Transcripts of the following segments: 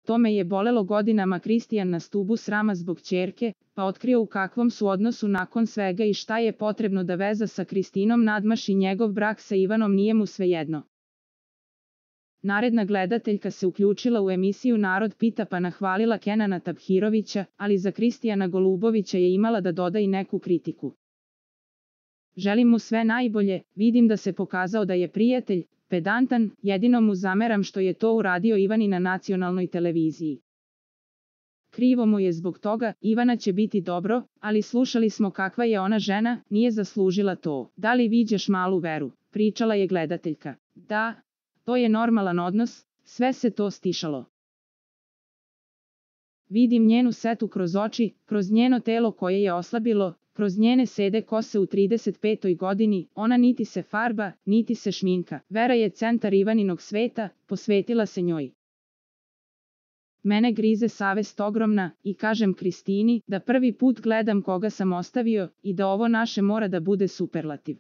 To me je bolelo godinama. Kristijan na stubu srama zbog ćerke, pa otkrio u kakvom su odnosu nakon svega i šta je potrebno da veza sa Kristinom nadmaši njegov brak sa Ivanom, nije mu svejedno. Naredna gledateljka se uključila u emisiju Narod pita pa nahvalila Kenana Taphirovića, ali za Kristijana Golubovića je imala da doda i neku kritiku. Želim mu sve najbolje, vidim da se pokazao da je prijatelj, pedantan, jedino mu zameram što je to uradio Ivani na nacionalnoj televiziji. Krivo mu je zbog toga, Ivana će biti dobro, ali slušali smo kakva je ona žena, nije zaslužila to. Da li viđaš malu Veru? Pričala je gledateljka. Da, to je normalan odnos, sve se to stišalo. Vidim njenu setu kroz oči, kroz njeno telo koje je oslabilo, kroz njene sede kose u 35. godini, ona niti se farba, niti se šminka. Vera je centar Ivaninog sveta, posvetila se njoj. Mene grize savest ogromna i kažem Kristini da prvi put gledam koga sam ostavio i da ovo naše mora da bude superlativ.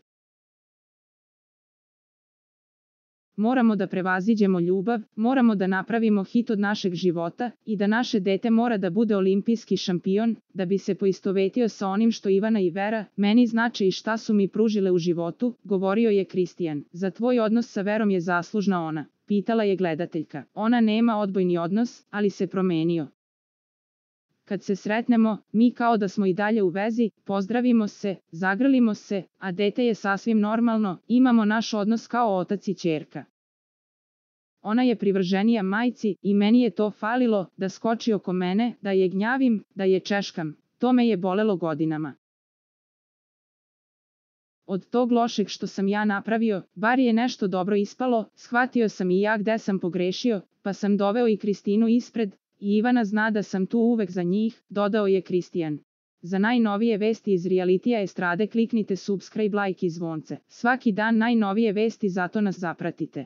Moramo da prevaziđemo ljubav, moramo da napravimo hit od našeg života i da naše dete mora da bude olimpijski šampion, da bi se poistovetio sa onim što Ivana i Vera meni znače i šta su mi pružile u životu, govorio je Kristijan. Za tvoj odnos sa Verom je zaslužna ona, pitala je gledateljka. Ona nema odbojni odnos, ali se promenio. Kad se sretnemo, mi kao da smo i dalje u vezi, pozdravimo se, zagrlimo se, a dete je sasvim normalno, imamo naš odnos kao otac i ćerka. Ona je privrženija majci i meni je to falilo, da skoči oko mene, da je gnjavim, da je češkam, to me je bolelo godinama. Od tog lošeg što sam ja napravio, bar je nešto dobro ispalo, shvatio sam i ja gde sam pogrešio, pa sam doveo i Kristinu ispred, i Ivana zna da sam tu uvek za njih, dodao je Kristijan. Za najnovije vesti iz realitija estrade kliknite subscribe, like i zvonce. Svaki dan najnovije vesti, zato nas zapratite.